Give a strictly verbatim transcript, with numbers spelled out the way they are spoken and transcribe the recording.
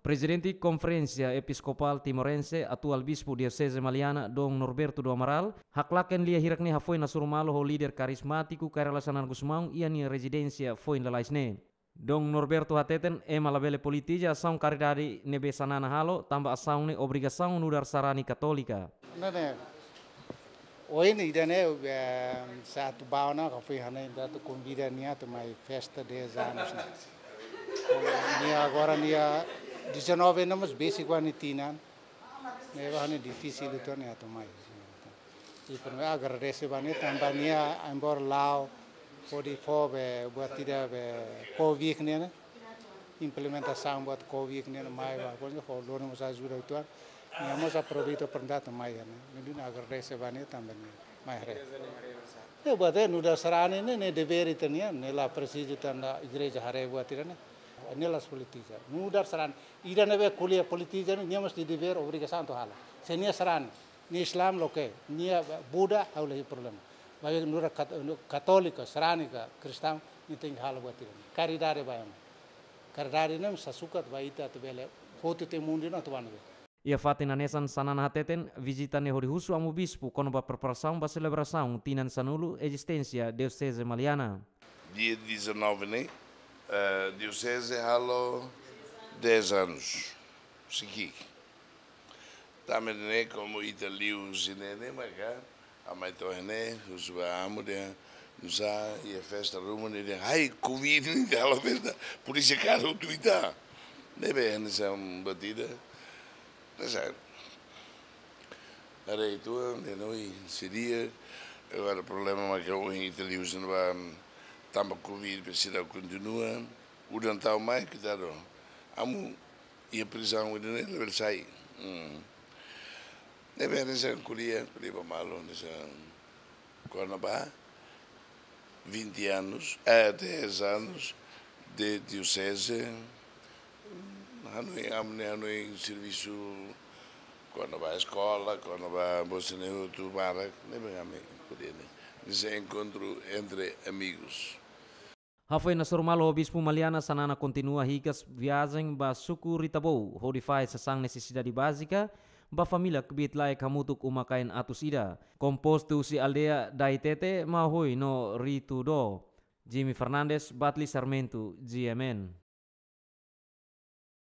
Prezidente Konferénsia Episkopál Timorense, atuál Bispu Dioseze Maliana, Dom Norberto do Amaral, haklaken lia hirak-ne'e hafoin hasoru malu ho líder karizmátiku Kay Rala Xanana Gusmão iha nia rezidénsia foin lalais ne'e. Dom Norberto hateten ema labele politiza asaun karidade ne'ebé Xanana halo, tanba asaun ne'e obrigasaun nu'udar sarani katólika. Ne'e, ohin ida-ne'e, eh, se atu bá ona, ka fui hana ida atu konvida nia atu mai festa dez anos ne'e. Nia agora nia dezanove anos, mas besik nia tinan. Ne'e ba ne'e difisil uitoan nia atu mai. I primeiru agradese ba nia tanba nia embora la'o hodi fó be buat ida be Covid ne'e, ne'e. Implementasaun buat Covid ne'e, ne'e mai ba, pokoknya ho lori mós ajuda uitoan. Nia mós aproveita oportunidade mai ne'e. Ne'e nia agradese ba nia tanba nia mai haree. Ne'e buat ne'e nu'udar sarani ne'e, ne'e devér ita-nian, ne'e la presiza tan da igreja haree buat ida-ne'e. Ne'e la politiza. Nu'udar sarani. Ida ne'ebé ko'alia politiza ne'e, nia mós iha devér, obrigasaun atu halo. Se nia sarani, nia Islam loke, nia Buda, ha'u la iha problema. Maibé nu'udar kat-, katólika, sarani ka kristaun, nia tenke halo buat ida-ne'e. Karidade ba ema. Karidade ne'e mós sukat ba ita atu bele hotu tiha mundu ne'e atu bá ne'ebé. Iha fatin hanesan Xanana hateten, vizita ne'e hodi husu Amu Bispu kona-ba preparasaun ba selebrasaun tinan sanulu ezisténsia Dioseze Maliana. Dia dezanove ne'e, eh, Dioseze halo dez anos. Sikik. Tanba ne'e komu ita liu husi ne'e ne'e maka, amai to'o ne'e, husu ba Amu dehan, nusá, iha festa ruma ne'e dehan, ai, Covid ne'e halo festa, polísia kaer hotu ita. Ne'ebé, hanesan buat ida. Hanesan. Haree uitoan, ne'e no i seria, agora problema maka ohin ita liu husi ne'ebá, tanba Covid, presiza kontinua, udan tau mai, koitadu. Amu, iha prizaun ida-ne'e labele sai. Hmm. Ne'ebé hanesan ko'alia, ko'alia ba malu, hanesan kona-ba vinte anos, eh, dez anos de dioseze. Hanoin, Amu ne'e hanoin servisu kona-ba eskola, kona-ba bosi ne'e hotu barak, ne'ebé ami ko'alia ne'e. Hanesan enkontru entre amigos. Hafoin hasoru malu ho Bispu Maliana, Xanana kontinua hikas viajen ba suku Ritabou, hodi fahe sasán nesesidade bázika ba família kbiit-laek hamutuk uma-kain atus ida. Kompostu husi aldeia Daitete, Maohoi no Ritudó. Jimmy Fernandes, Batli Sarmento, G M N.